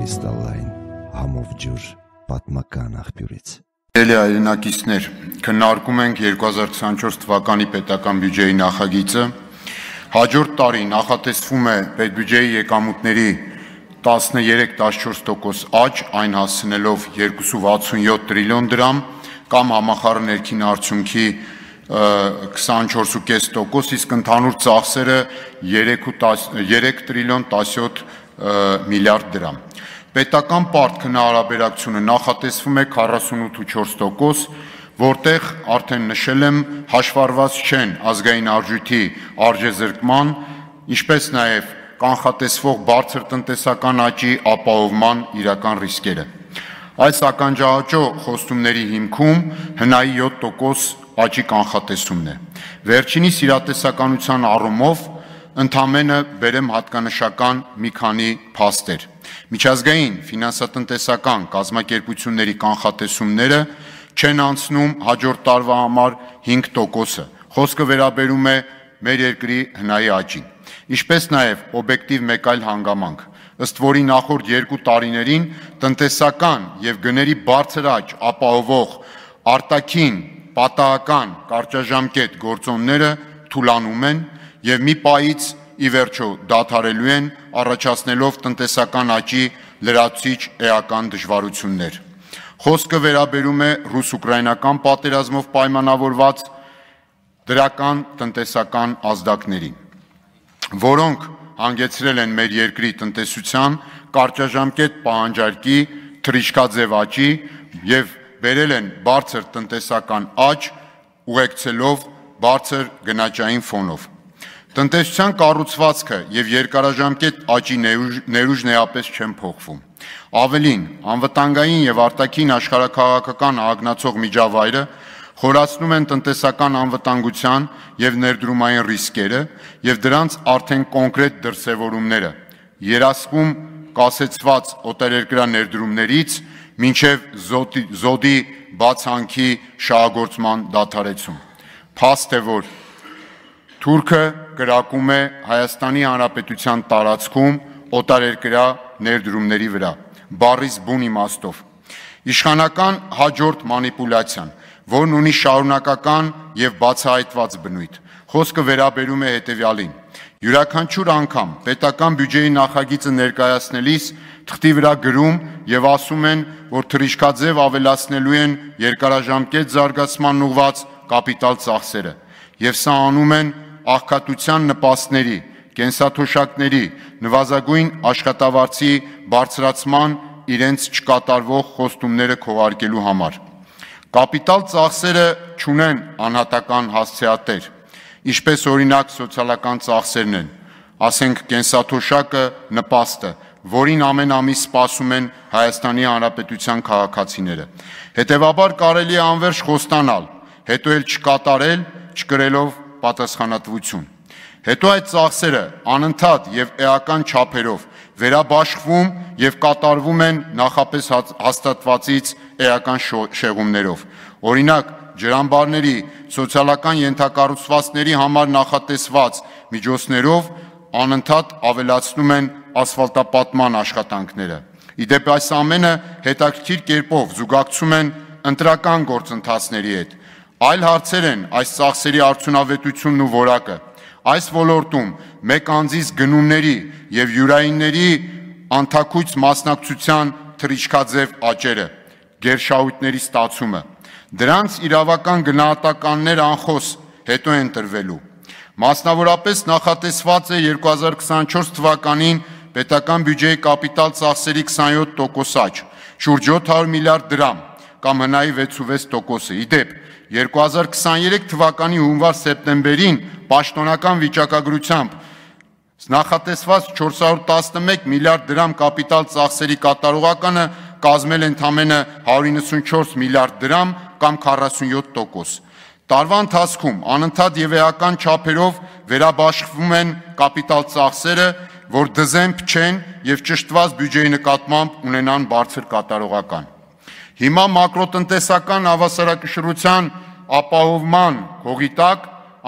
կրիստալային համով ջուր պատմական աղբյուրից։ Սիրելի հայրենակիցներ, քննարկում ենք 2024 թվականի պետական բյուջեի նախագիծը։ Հաջորդ տարի նախատեսվում է պետբյուջեի եկամուտների 13-14% աճ, այն հասցնելով 267 տրիլիոն դրամ կամ համախառն ներքին արդյունքի 24.5%, իսկ ընդհանուր ծախսերը 3 տրիլիոն 17 միլիարդ դրամ։ Պետական պարտ քննարարաբերակցությունը նախատեսվում է 48.4%, որտեղ արդեն նշել եմ, հաշվառված չեն ազգային արժույթի արժեզրկման, ինչպես նաև կանխատեսվող բարձր տնտեսական աճի ապահովման իրական ռիսկերը։ Այս ականջաաճո խոստումների հիմքում հնայի 7% աճի կանխատեսումն է։ Վերջինիս իրատեսականության առումով ընդամենը բերեմ հատկանշական մի քանի փաստեր։ Միջազգային ֆինանսատնտեսական կազմակերպությունների կանխատեսումները չեն անցնում հաջորդ տարվա համար 5%-ը։ Խոսքը վերաբերում է մեր երկրի հնայի աճին։ Ինչպես նաև օբյեկտիվ մեկ այլ հանգամանք, ըստ որի նախորդ 2 տարիներին տնտեսական և գների բարձր աճ ապահովող արտաքին պատահական կարճաժամկետ գործոնները թուլանում են և մի պահից ի վերջո դադարելու են, առաջացնելով տնտեսական աճի լրացուցիչ էական դժվարություններ։ Խոսքը վերաբերում է ռուս-ուկրաինական պատերազմով պայմանավորված դրական տնտեսական ազդակներին, որոնք հանգեցրել են մեր երկրի տնտեսության կարճաժամկետ պահանջարկի թռիչքաձև աճի և բերել են բարձր տնտեսական աճ, ուղեկցելով բարձր գնաճային ֆոնով։ Տնտեսության կառուցվածքը և երկարաժամկետ աճի ներուժն էապես չեն փոխվում։ Ավելին, անվտանգային և արտաքին աշխարհաքաղաքական ահագնացող միջավայրը խորացնում են տնտեսական անվտանգության և ներդրումային ռիսկերը և դրանց արդեն կոնկրետ դրսևորումները, երասխում կասեցված օտարերկրյա ներդրումներից մինչև զոդի բացանքի շահագործման դադարեցում։ Փաստ է, որ Թուրքը կրակում է Հայաստանի Հանրապետության տարածքում օտարերկրյա ներդրումների վրա, բառիս բուն իմաստով։ Իշխանական հաջորդ մանիպուլյացիան, որն ունի շարունակական և բացահայտված բնույթ, խոսքը վերաբերում է հետևյալին. յուրաքանչյուր անգամ պետական բյուջեի նախագիծը ներկայացնելիս թղթի վրա գրում և ասում են, որ թռիչքաձև ավելացնելու են երկարաժամկետ զարգացման ուղղված կապիտալ ծախսերը, և սա անում են աղքատության նպաստների, կենսաթոշակների, նվազագույն աշխատավարձի բարձրացման իրենց չկատարվող խոստումները քողարկելու համար։ Կապիտալ ծախսերը չունեն անհատական հասցեատեր, ինչպես օրինակ սոցիալական ծախսերն են, ասենք կենսաթոշակը, նպաստը, որին ամեն ամիս սպասում են Հայաստանի Հանրապետության քաղաքացիները։ Հետևաբար կարելի է անվերջ խոստանալ, հետո էլ չկատարել, չկրելով պատասխանատվություն։ Հետո այդ ծախսերը անընդհատ և էական չափերով վերաբաշխվում և կատարվում են նախապես հաստատվածից էական շեղումներով։ Օրինակ, ջրամբարների, սոցիալական ենթակառուցվածքների համար նախատեսված միջոցներով անընդհատ ավելացնում են ասֆալտապատման աշխատանքները։ Իդեպ այս ամենը հետաքրքիր կերպով զուգակցում են ընտրական գործընթացների հետ։ Այլ հարցեր են այս ծախսերի արդյունավետությունն ու որակը։ Այս ոլորտում մեկ անձից գնումների և յուրայինների անթաքույց մասնակցության թռիչքաձև աճերը, գերշահույթների ստացումը։ Դրանց իրավական գնահատականներ անխոս հետո են տրվելու։ Մասնավորապես նախատեսված է 2024 թվականին պետական բյուջեի կապիտալ ծախսերի 27% աճ, շուրջ 700 միլիարդ դրամ կամ հնայի 6.6%-ը։ Իդեպ 2023 թվականի հունվար-սեպտեմբերին պաշտոնական վիճակագրությամբ նախատեսված 411 միլիարդ դրամ կապիտալ ծախսերի կատարողականը կազմել ընդամենը 194 միլիարդ դրամ կամ 47%։ Տարվա ընթացքում անընդհատ և էական չափերով վերաբաշխվում են կապիտալ ծախսերը, որ դզեմփ չեն և ճշտված բյուջեի նկատմամբ ունենան բարձր կատարողական։ Հիմա մակրոտնտեսական հավասարակշռության ապահովման հողի տակ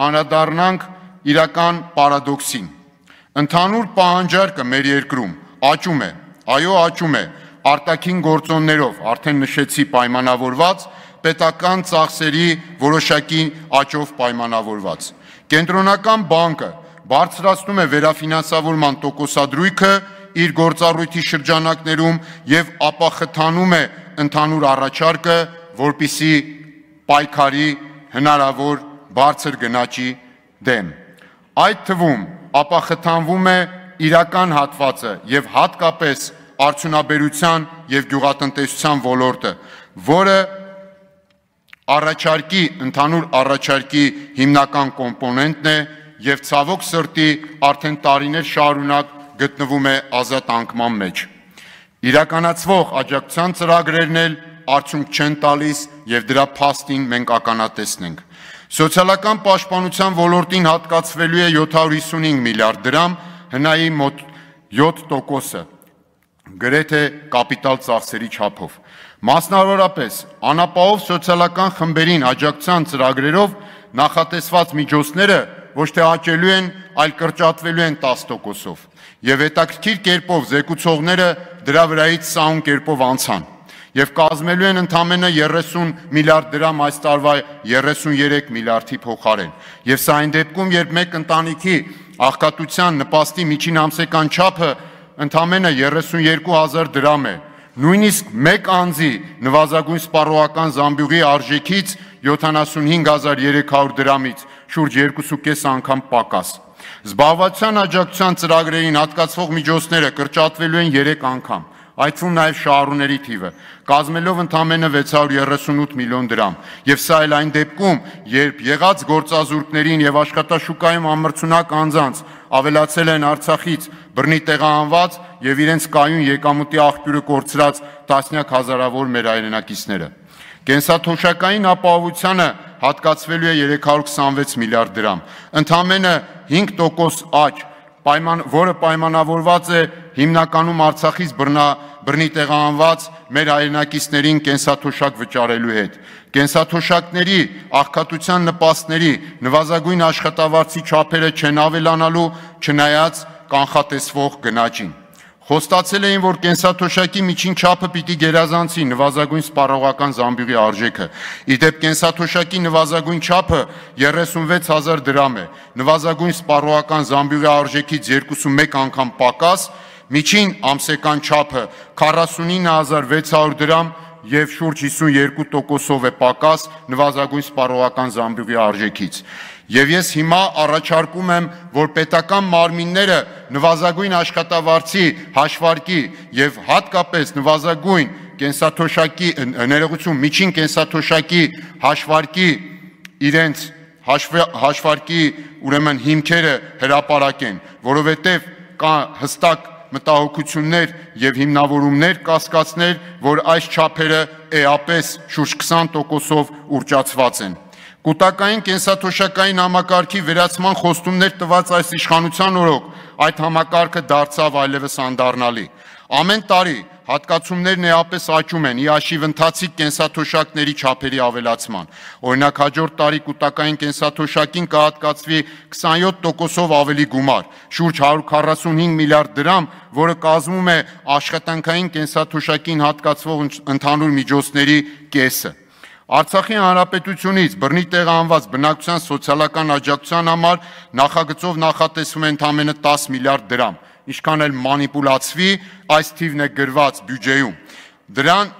անդրադառնանք իրական պարադոքսին։ Ընդհանուր պահանջարկը մեր երկրում աճում է, Այո, աճում է արտաքին գործոններով, արդեն նշեցի պայմանավորված, պետական ծախսերի որոշակի աճով պայմանավորված։ Կենտրոնական բանկը բարձրացնում է վերաֆինանսավորման տոկոսադրույքը իր գործառույթի շրջանակներում եւ ապախթանում է ընդհանուր առաջարկը, որպիսի պայքարի հնարավոր բարձր գնաճի դեմ։ Այդ թվում ապախթանվում է իրական հատվածը եւ հատկապես արդյունաբերության եւ գյուղատնտեսության ոլորտը, որը ընդհանուր առաջարկի հիմնական կոմպոնենտն է եւ ցավոք սրտի արդեն տարիներ շարունակ գտնվում է ազատ անկման մեջ։ Իրականացվող աջակցության ծրագրերն էլ արդյունք չեն տալիս եւ դրա փաստին մենք ականատեսն ենք։ Սոցիալական պաշտպանության ոլորտին հատկացվելու է 755 միլիարդ դրամ, հնայի մոտ 7%-ը, գրեթե կապիտալ ծախսերի չափով։ Մասնավորապես, անապահով սոցիալական խմբերին աջակցության ծրագրերով նախատեսված միջոցները ոչ թե աճելու են, այլ կրճատվելու են 10%-ով։ Եվ հետաքրքիր կերպով զեկուցողները դրա վրայից սահուն կերպով անցան եւ կազմելու են ընդամենը 30 միլիարդ դրամ այս տարվա 33 միլիարդի փոխարեն։ Եվ սա այն դեպքում, երբ մեկ ընտանիքի աղքատության նպաստի միջին ամսական չափը ընդամենը 32,000 դրամ է, նույնիսկ մեկ անձի նվազագույն սպառողական զամբյուղի արժեքից 75,300 դրամից շուրջ 2.5 անգամ պակաս։ Զբաղվածության աջակցության ծրագրերին հատկացվող միջոցները կրճատվելու են 3 անգամ, այդ թվում նաև շահառուների թիվը, կազմելով ընդամենը 638 միլիոն դրամ։ Եվ սա էլ այն դեպքում, երբ եղած գործազուրկներին եւ աշխատաշուկայում ամրցունակ անձանց ավելացել են Արցախից բռնի տեղահանված եւ իրենց կայուն եկամուտի աղբյուրը կորցրած տասնյակ հազարավոր մեր հայրենակիցները։ Կենսաթոշակային ապահովությանը հատկացվելու է 326 միլիարդ դրամ, ընդամենը 5% աճ, որը պայմանավորված է հիմնականում Արցախից բռնի տեղահանված մեր հայրենակիցներին կենսաթոշակ վճարելու հետ։ Կենսաթոշակների աղքատության նպաստների նվազագույն աշխատավարձի չափերը չեն ավելանալու, չնայած կանխատեսվող գնաճին։ Խոստացել էին, որ կենսաթոշակի միջին չափը պիտի գերազանցի նվազագույն սպառողական զամբյուղի արժեքը։ Իդեպ կենսաթոշակի նվազագույն չափը 36,000 դրամ է, նվազագույն սպառողական զամբյուղի արժեքից 2.1 անգամ պակաս, միջին ամսական չափը 49,600 դրամ եւ շուրջ 52%-ով է պակաս նվազագույն սպառողական զամբյուղի արժեքից։ Եվ ես հիմա առաջարկում եմ, որ պետական մարմինները նվազագույն աշխատավարձի հաշվարկի եւ հատկապես նվազագույն կենսաթոշակի ներողություն միջին կենսաթոշակի հաշվարկի իրենց հաշվարկի ուրեմն հիմքերը հրապարակեն, որովհետեւ կա հստակ մտահոգություններ եւ հիմնավորումներ կասկածներ, որ այս չափերը էապես շուրջ 20%-ով ուռճացված են։ Կուտակային կենսաթոշակային համակարգի վերացման խոստումներ տված այս իշխանության օրոք այդ համակարգը դարձավ այլևս անդառնալի։ Ամեն տարի հատկացումներն էապես աճում են՝ ի հաշիվ ընթացիկ կենսաթոշակների չափերի ավելացման։ Օրինակ, հաջորդ տարի կուտակային կենսաթոշակին կհատկացվի 27%-ով ավելի գումար, շուրջ 145 միլիարդ դրամ, որը կազմում է աշխատանքային կենսաթոշակին հատկացվող ընդհանուր միջոցների կեսը։ Արցախի հանրապետությունից բռնի տեղահանված բնակչության սոցիալական աջակցության համար նախագծով նախատեսվում է ընդամենը 10 միլիարդ դրամ, ինչքան էլ մանիպուլացվի, այս թիվն է գրված բյուջեում։ Դրան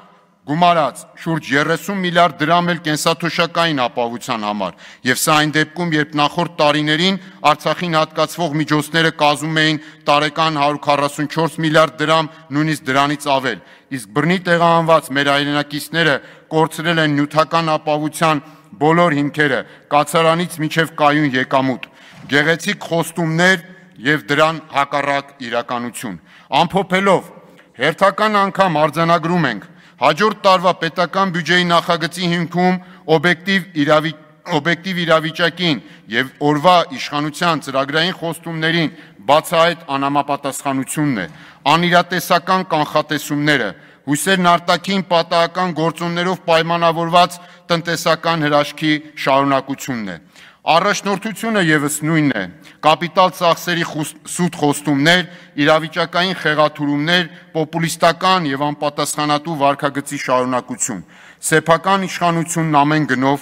գումարած շուրջ 30 միլիարդ դրամ էլ կենսաթոշակային ապահովության համար, եւ սա այն դեպքում, երբ նախորդ տարիներին Արցախին հատկացվող միջոցները կազմում էին տարեկան 144 միլիարդ դրամ, նույնիսկ դրանից ավել, իսկ բռնի տեղահանված մեր հայրենակիցները կորցրել են նյութական ապահովության բոլոր հիմքերը, կացարանից մինչև կայուն եկամուտ, գեղեցիկ խոստումներ եւ դրան հակառակ իրականություն։ Ամփոփելով, հերթական անգամ արձանագրում ենք, հաջորդ տարվա պետական բյուջեի նախագծի հիմքում օբյեկտիվ իրավիճակին եւ օրվա իշխանության ծրագրային խոստումներին բացահայտ անհամապատասխանությունն է, անիրատեսական կանխատեսումները, հույսերն արտաքին պատահական գործոններով պայմանավորված տնտեսական հրաշքի շարունակությունն է։ Առաջնորդությունը եւս նույնն է. կապիտալ ծախսերի սուտ խոստումներ, իրավիճակային խեղաթյուրումներ, պոպուլիստական եւ անպատասխանատու վարքագծի շարունակություն, սեփական իշխանությունն ամեն գնով